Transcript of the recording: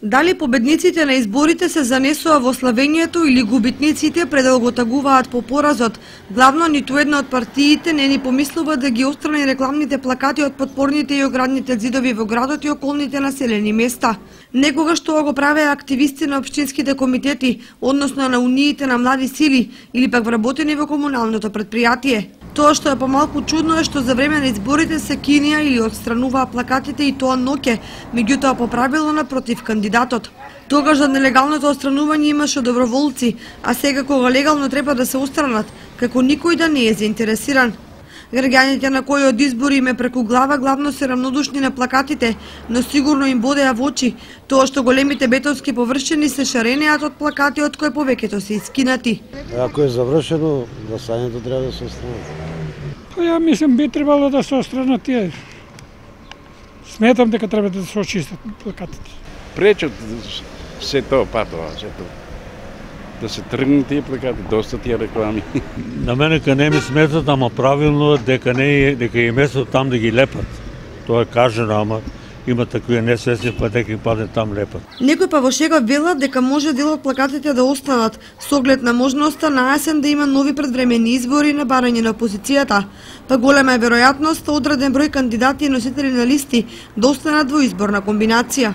Дали победниците на изборите се занесува во славењето или губитниците пред да го тагуваат по поразот, главно ниту една од партиите не ни помислува да ги отстрани рекламните плакати од подпорните и оградните зидови во градот и околните населени места. Некогаш тоа го правеа активисти на општинските комитети, односно на униите на млади сили или пак вработени во комуналното предпријатие. Тоа што е помалку чудно е што за време на изборите се кинија или отстрануваа плакатите и тоа ноќе, меѓутоа по правило напротив кандидатот. Тогаш за нелегалното отстранување имаше доброволци, а сега кога легално треба да се отстранат, како никој да не е заинтересиран. Граѓаните на кои од избори им е преку глава главно се рамнодушни на плакатите, но сигурно им бодеа во очи тоа што големите бетонски површини се шаренеат од плакати од кои повеќето се искинати. Ако е завршено, гласањето треба да се отстрани. Ја мислам би требало да се отстранат тие. Сметам дека треба да се очистат плакатите. Пречат се тоа патова, се тоа. Да се тргнат тие плакати, доста тие реклами. На мене ка не ми сметат, ама правилно дека е место там да ги лепат. Тоа е кажано, ама има такви несвесни, па дека им падне там лепат. Некој па во шега велат дека може дел од плакатите да останат, со оглед на можноста на есен да има нови предвремени избори на барање на опозицијата, па голема е веројатност одреден број кандидати и носители на листи да останат во изборна комбинација.